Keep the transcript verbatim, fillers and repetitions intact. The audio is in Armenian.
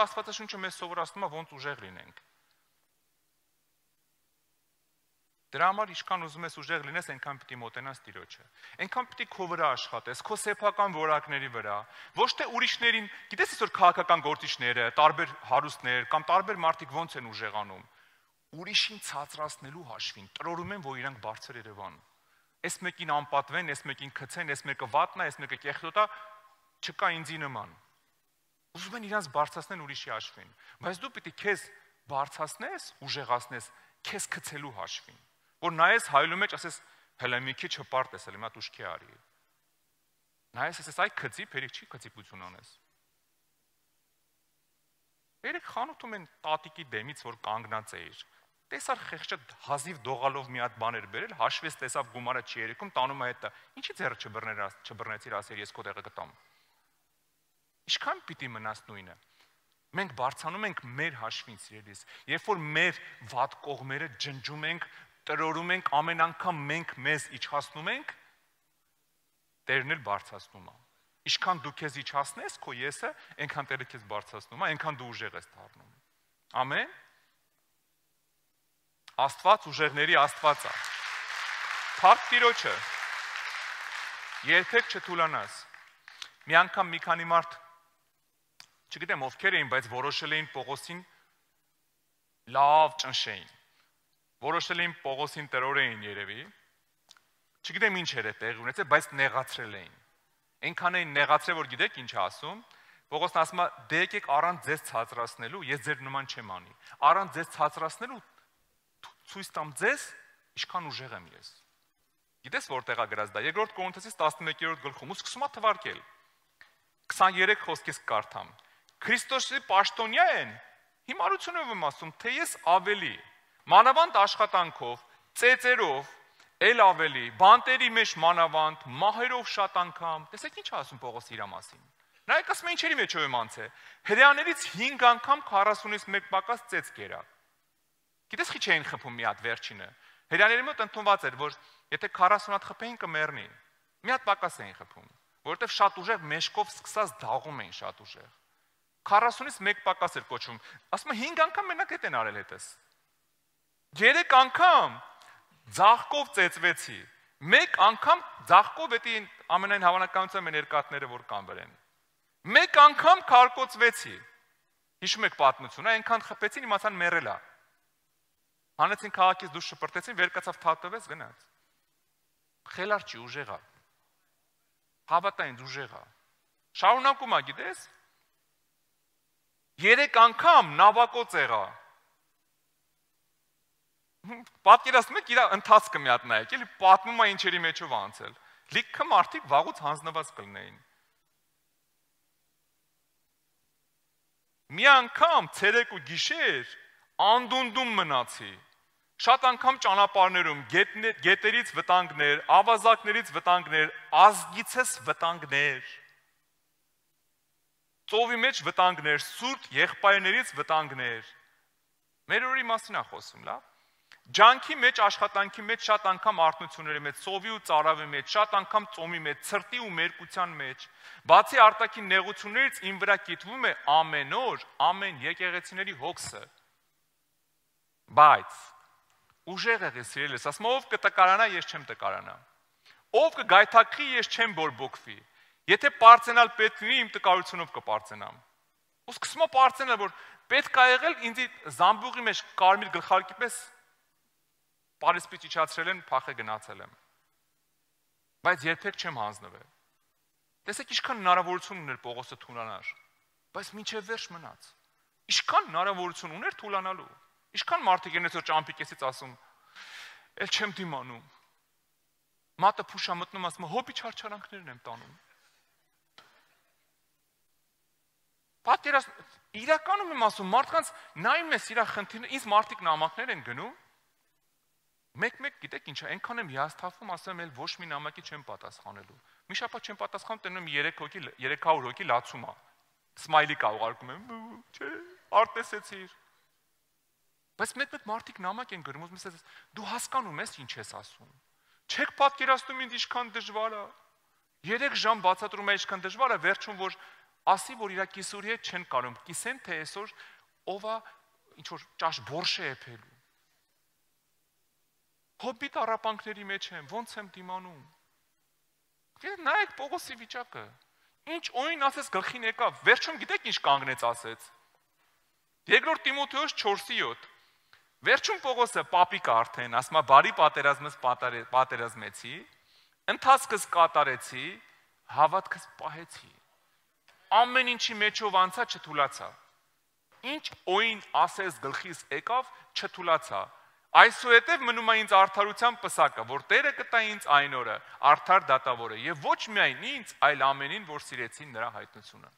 որ Աստվածաշունչը մեզ սովորացնում է ոնց ուժեղ լինենք։ Դրա համար ինչքան ուզում ես ուժեղ լինես, այնքան պիտի մոտենաս Տիրոջը։ Այնքան պիտի քո վրա աշխատես, քո սեփական որակների վրա, ոչ թե ուրիշներին, գիտես այսօր քաղաքական գործիչները, տարբեր հարուստներ կամ տարբեր մարդիկ ոնց են ուժեղանում։ Ուրիշին ցածրացնելու հաշվին տրորում են, որ իրանք բարձր Երևան։ Այս մեկին անպատվեն, այս մեկին քցեն, այս մեկը վատնա, այս մեկը կեղտոտա, չկա ինձի նման։ Ուզում են իրանց բարձրացնել ուրիշի հաշվին, բայց դու պիտի քեզ բարձրացնես, ուժեղացնես քեզ քցելու հաշվին, որ նայես հայլու մեջ ասես հələ մի քիչ հպարտ ես, հələ մի հատ ուշքի արի։ Նայես ասես այ քծի, փերիկ չի քծիպություն անես։ Երեք խանութում են տատիկի դեմից, որ կանգնած էիր։ Տեսար խեղճը հազիվ դողալով մի հատ բաներ բերել, հաշվես տեսավ գումարը չի երեքում, տանում է հետը։ Ինչի ձեռը չբռներ, չբռնեցիր, ասեր ես քո տեղը գտամ։ Ինչքան պիտի մնաս նույնը։ Մենք բարձանում ենք մեր հաշվին, սիրելիս, երբ որ մեր վատ կողմերը ջնջում ենք, տրորում ենք, ամեն անգամ մենք մեզ իջացնում ենք, Տերն էլ բարձրացնում է։ Ինչքան դու քեզ իջացնես, քո եսը, այնքան Տերը քեզ բարձրացնում է, այնքան դու ուժեղ ես դառնում։ Ամեն։ Աստված ուժեղների Աստված է։ Փառք Տիրոջը։ Երբեք չթուլանաս։ Մի անգամ մի քանի մարդ, չգիտեմ ովքեր էին, բայց որոշել էին Պողոսին լավ ճնշեին։ Որոշել էին Պողոսին տրորեին երևի։ Չգիտեմ ինչ էր է տեղի ունեցել, բայց նեղացրել էին։ Այնքան էին նեղացրել, որ գիտեք ինչ է ասում։ Պողոսն ասում է՝ դե եկեք առանց ձեզ ցածրացնելու, ես ձեր նման չեմ անի։ Առանց ձեզ ցածրացնելու ցույց տամ ձեզ, ինչքան ուժեղ եմ ես։ Գիտես որտեղ է գրած դա։ Երկրորդ Կորինթոսից տասնմեկերորդ գլխում ու սկսում է թվարկել։ քսաներեք խոսքից կարդամ։ Քրիստոսի պաշտոնյա են, հիմարությունով եմ ասում, թե ես ավելի, մանավանդ աշխատանքով, ծեծերով, էլ ավելի, բանտերի մեջ մանավանդ, մահերով շատ անգամ, տեսեք ինչ ասում Պողոս իր մասին։ Նայեք ասում է ինչերի մեջով եմ անցել։ Հրեաներից հինգ անգամ քառասունից մեկ պակաս ծեծ կերա։ Գիտես խի չէին խփում մի հատ վերջինը։ Հրեաների մոտ ընդունված էր, որ եթե քառասուն հատ խփեին կմեռնի։ Մի հատ պակաս էին խփում, որովհետև շատ ուժեղ մեշկով սկսած դաղում էին շատ ուժեղ։ քառասունից մեկ պակաս էր կոչվում։ Ասում է հինգ անգամ մենակ հետ են արել հետս։ Երեք անգամ ձաղկով ծեծվեցի։ Մեկ անգամ ձաղկով էտի ամենայն հավանականությամբ են երկաթները, որ կան վրեն։ Մեկ անգամ քարկոծվեցի։ Հիշում եք պատմությունը, այնքան խփեցին, իմացան մեռել է։ Հանեցին քաղաքից դուրս շպրտեցին, վեր կացավ թաթվեց, գնաց։ Խելար չի, ուժեղ է։ Հավատա ինձ ուժեղ է։ Շարունակում է, գիտես։ Երեք անգամ նավակոծ եղա։ Պատկերացնում եք իր ընթացքը մի հատ նայեք, էլի պատմում է ինչերի մեջով անցել։ Լիքը մարդիկ վաղուց հանձնված կլինեին։ Մի անգամ ցերեկ ու գիշեր անդունդում մնացի։ Շատ անգամ ճանապարհներում գետերից վտանգներ, ավազակներից վտանգներ, ազգիցս վտանգներ։ Ծովի մեջ վտանգներ, սուրտ եղբայրներից վտանգներ։ Մեր օրի մասին է խոսում, լավ։ Ջանքի մեջ, աշխատանքի մեջ, շատ անգամ արթնությունների մեջ, ծովի ու ծարավի մեջ, շատ անգամ ծոմի մեջ, ցրտի ու մերկության մեջ, բացի արտաքին նեղություններից իմ վրա կիտվում է ամեն օր, ամեն եկեղեցիների հոգսը։ Բայց ուժեղ եղի սիրելիս, ասում ով կտկարանա, ես չեմ տկարանա։ Ով կգայթակղի, ես չեմ բորբոքվի։ Եթե պարծենալ պետք լինի, իմ տկարությունով կպարծենամ։ Ու սկսում է պարծենալ, որ պետք է եղել ինձ զամբյուղի մեջ կարմիր գլխարկի պես պարիսպից իջացրել են, փախե գնացել եմ։ Բայց երբեք չեմ հանձնվել։ Տեսեք ինչքան հնարավորություն ուներ Պողոսը թուլանալ, բայց մինչև վերջ մնաց։ Ինչքան հնարավորություն ուներ թուլանալու։ Ինչքան մարդիկ են այսօր ճամփիկեսից ասում, «Էլ չեմ դիմանում»։ Մատը փուշա մտնում, ասում է, «Հոբի չարչարանքներն եմ տանում»։ Պատկերացնում, իրականում եմ ասում, մարդկանց նայում ես իր խնդիրները, ինձ մարդիկ նամակներ են գնում։ Մեկ-մեկ գիտեք ինչ է, այնքան եմ հիասթափվում, ասեմ, էլ ոչ մի նամակի չեմ պատասխանելու։ Մի շաբաթ չեմ պատասխանում, տենում երեք հոգի, երեք հարյուր հոգի լացում է։ Սմայլի կա ուղարկում եմ, չէ, արտեսեցիր։ Բայց մեկ-մեկ մարդիկ նամակ են գրում, ուզում ես, դու հասկանում ես ինչ ես ասում։ Չեք պատկերացնում ինձ ինչքան դժվար է։ Երեք ժամ բացատրում է ինչքան դժվար է, վերջում որ ասի, որ իր կիսուրի հետ չեն կարում, կիսեն, թե այսօր ով է ինչ-որ ճաշ բորշ է եփելու։ Հոբի տառապանքների մեջ եմ, ոնց եմ դիմանում։ Նայեք Պողոսի վիճակը։ Ինչ օին ասես գլխին եկավ, վերջում գիտեք ինչ կանգնեց ասեց։ Երկրորդ Տիմոթեոս չորսի յոթ։ Վերջում Պողոսը պապիկ արդեն, ասում է բարի պատերազմս պատերազմեցի, ընթացքս կատարեցի, հավատքս պահեցի։ Ամեն ինչի մեջով անցա, չթուլացա։ Ինչ օին ասես գլխիս եկավ, չթուլացա։ Այսուհետև մնում է ինձ արդարության պսակը, որ Տերը կտա ինձ այն օրը, արդար դատավորը, եւ ոչ միայն ինձ, այլ ամենին, որ սիրեցին նրա հայտնությունը։